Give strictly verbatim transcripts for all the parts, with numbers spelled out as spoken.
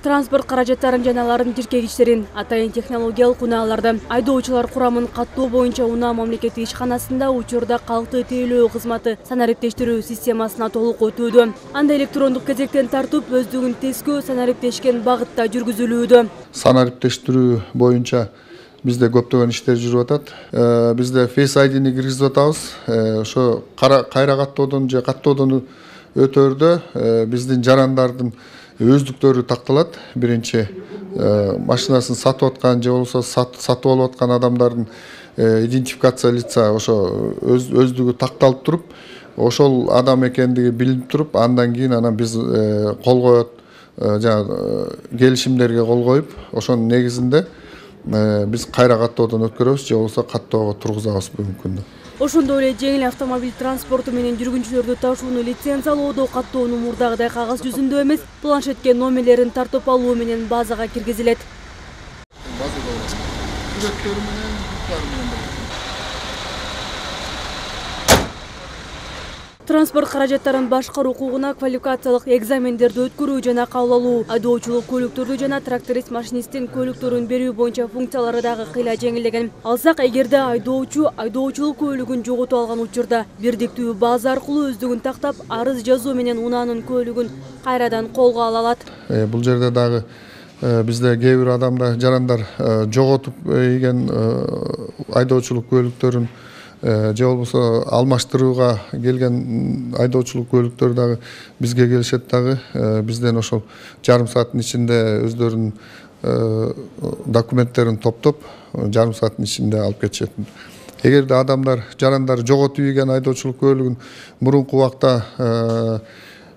Транспорт каражаттарын жана алардын тиркегичтерин, атайын технологиялык унааларды, айдоочулар курамын каттоо боюнча унаа мамлекеттик ишканасында учурда калкты тейлөө кызматы санариптештирүү системасына толук өтүүдө. Анда электрондук кезектен тартып, өздүгүн тескөө санариптешкен багытта жүргүзүлүүдө. Санариптештирүү боюнча бизде көптөгөн иштер жүрүп атат. Бизде Face ай ди-ни киргизип атабыз. Ошо кайра каттоодон же каттоодон өтөөрдө биздин жарандардын өздүктөрү такталат. Биринчи машинасын сатып аткан же болбосо сатып алып аткан адамдардын идентификация лица ошо өздүгү такталып туруп, ошол адам экендиги билинип туруп, андан кийин анан биз кол коет, жана келишимдерге кол коюп, ошонун негизинде биз кайра каттоодон өткөрөбүз же болбосо каттоого тургузабыз бүгүнкү күндө. Ошондой эле жеңил автомобиль транспорту менен жүргүнчүлөрдү ташууну лицензиялоодо каттоонун мурдагыдай кагаз жүзүндө эмес, планшетке номерлерин тартып алуу менен базага киргизилет. Транспорт каражаттарын башкаруу укугуна квалификациялык экзамендерди өткөрүү жана кабыл алуу, айдоочулук көлүктөрдү жана тракторист машинисттин көлүктөрүн берүү боюнча функциялары дагы кыйла жеңилдеген. Алсак, эгерде айдоочу айдоочулук көлүгүн жоготуп алган учурда бирдиктүү база аркылуу өздүгүн тактап, арыз жазуу менен унаанын көлүгүн кайрадан колго ала алат. Бул жерде дагы бизде кээ бир адамдар, жарандар жоготуп ийген айдоочулук көлүктөрүн же болбосо алмаштырууга келген айдоочулук көлүктөр дагы бизге келишет дагы. Бизден ошол жарым сааттын ичинде өздөрүнүн документтерин топтоп, жарым сааттын ичинде алып кетишет. Эгерде адамдар, жарандар жоготуп ийген айдоочулук көлүгүн мурунку убакта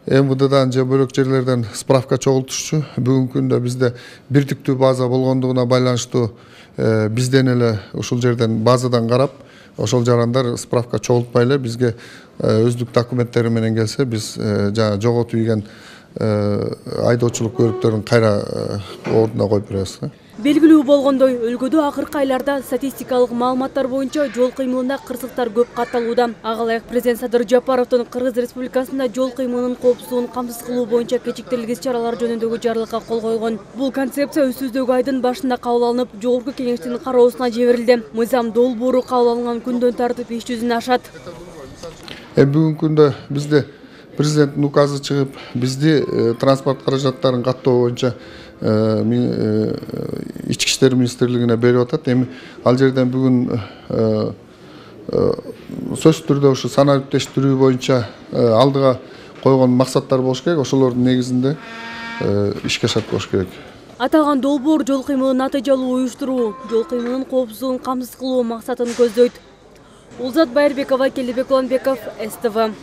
эм вэ дэдан же бөлөк жерлерден справка чогултушчу. Бүгүнкү күндө бизде бирдиктүү база болгондугуна байланыштуу бизден эле ушул жерден базадан карап, ошол жарандар справка чогултпай эле бизге өздүк документтери менен келсе, биз жана жоготуп ийген айдоочулук көлүктөрүн кайра ордуна коюп беребиз. Белгилүү болгондой, өлкөдө акыркы айларда статистикалык маалыматтар боюнча жол кыймылында кырсыктар көп катталууда. Ага ылайык президент Садыр Жапаровдун Кыргыз Республикасында жол кыймылынын коопсуздугун камсыз кылуу боюнча кечиктирилгис чаралар жөнүндөгү жарлыкка кол койгон. Бул концепция өсүздөгү айдын башында кабыл алынып, жогорку кеңештин кароосуна жиберилди. Мыйзам долбоору кабыл алынган күндөн тартып иш жүзүнө ашат. Бүгүнкү күндө бизде президенттин указы чыгып, бизди транспорт каражаттарын каттоо боюнча Ички иштер министрлигине берип атат. Эми ал жерден бүгүн сөзсүз түрдө ушу санариптештирүү боюнча алдыга койгон максаттар болуш керек. Ошолордун негизинде ишке ашат болуш керек. Аталган долбоор жол кыймылын натыйжалуу уюштуруу, жол кыймылынын коопсуздугун камсыз кылуу максатын көздөйт. Улзат Байырбекова, Келдебек Уланбеков, эс тэ вэ.